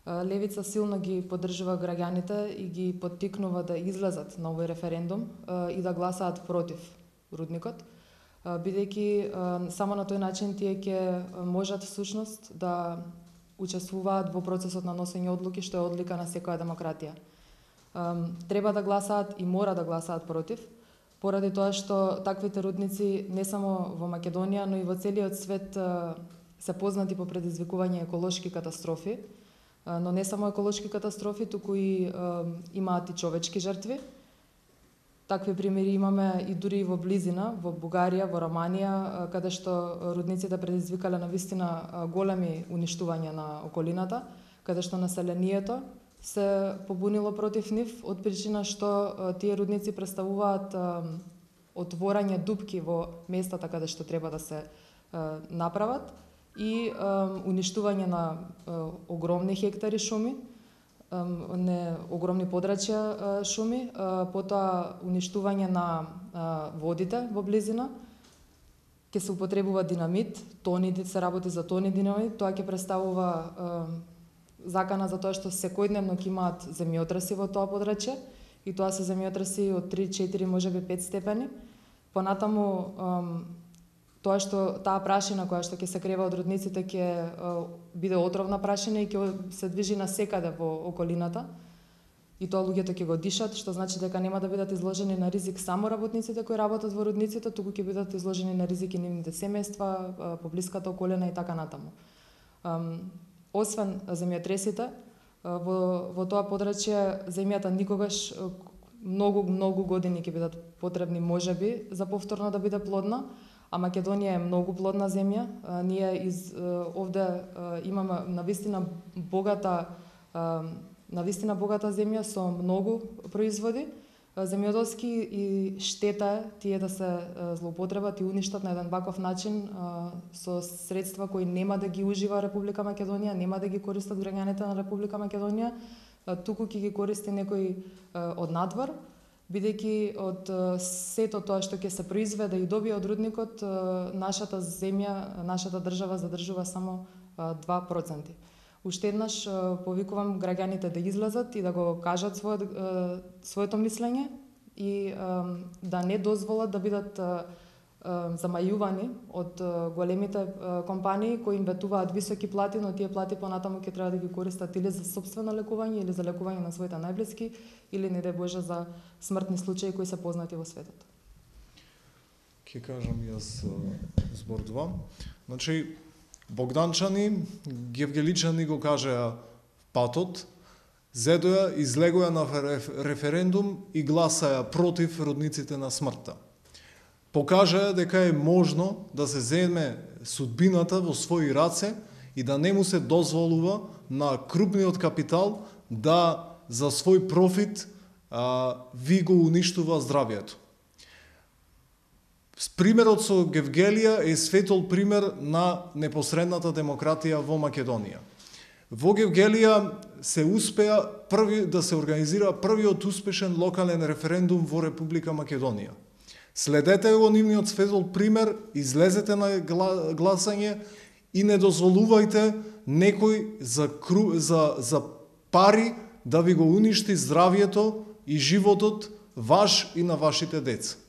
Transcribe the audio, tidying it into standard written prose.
Левица силно ги поддржува граѓаните и ги поттикнува да излезат на овој референдум и да гласаат против рудникот, бидејќи само на тој начин тие ќе можат всушност да учествуваат во процесот на носење одлуки, што е одлика на секоја демократија. Треба да гласаат и мора да гласаат против, поради тоа што таквите рудници не само во Македонија, но и во целиот свет се познати по предизвикување еколошки катастрофи, но не само еколошки катастрофи, туку и имаат и човечки жртви. Такви примери имаме и дури во близина, во Бугарија, во Романија, каде што рудниците предизвикале навистина големи уништувања на околината, каде што населението се побунило против нив од причина што тие рудници представуваат отворање дупки во местата каде што треба да се направат и уништување на огромни хектари шуми, огромни подрачја шуми, потоа уништување на водите во близина, ќе се употребува динамит, се работи за тони динамит, тоа ќе представува закана за тоа што секојдневно ќе имаат земјотреси во тоа подрачје и тоа се земјотреси од 3-4, можеби 5 степени. Понатаму тоа што таа прашина која што ќе се крева од рудниците ќе биде отровна прашина и ќе се движи насекаде во околината и тоа луѓето ќе го дишат, што значи дека нема да бидат изложени на ризик само работниците кои работат во рудниците, туку ќе бидат изложени на ризик и нивните семејства, поблиската околина и така натаму. Освен земјотресите, во тоа подрачје земјата никогаш многу години ќе бидат потребни можеби за повторно да биде плодна, а Македонија е многу плодна земја. Ние овде имаме навистина богата земја со многу производи земјоделски и штета е тие да се злоупотребат и уништат на еден ваков начин со средства кои нема да ги ужива Република Македонија, нема да ги користат граѓаните на Република Македонија, туку ќе ги користи некој од надвор, бидејќи од сето тоа што ќе се произведе и добие од рудникот, нашата земја, нашата држава задржува само 2%. Уште еднаш повикувам граѓаните да излезат и да го кажат своето мислење и да не дозволат да бидат замајувани од големите компании кои им ветуваат високи плати, но тие плати понатаму ќе треба да ги користат или за сопствено лекување, или за лекување на своите најблиски, или не дај Боже за смртни случаи кои се познати во светот. Ќе кажам јас збор 2. Значи, Богданчани, Гевгеличани го кажаа патот, зедоја, излегоја на референдум и гласаја против рудниците на смртта. Покажаја дека е можно да се земе судбината во своји раце и да не му се дозволува на крупниот капитал да за свој профит ви го уништува здравието. Примерот со Гевгелија е светол пример на непосредната демократија во Македонија. Во Гевгелија се успеа да се организира првиот успешен локален референдум во Република Македонија. Следете го нивниот светол пример, излезете на гласање и не дозволувајте некој за пари да ви го уништи здравието и животот ваш и на вашите деца.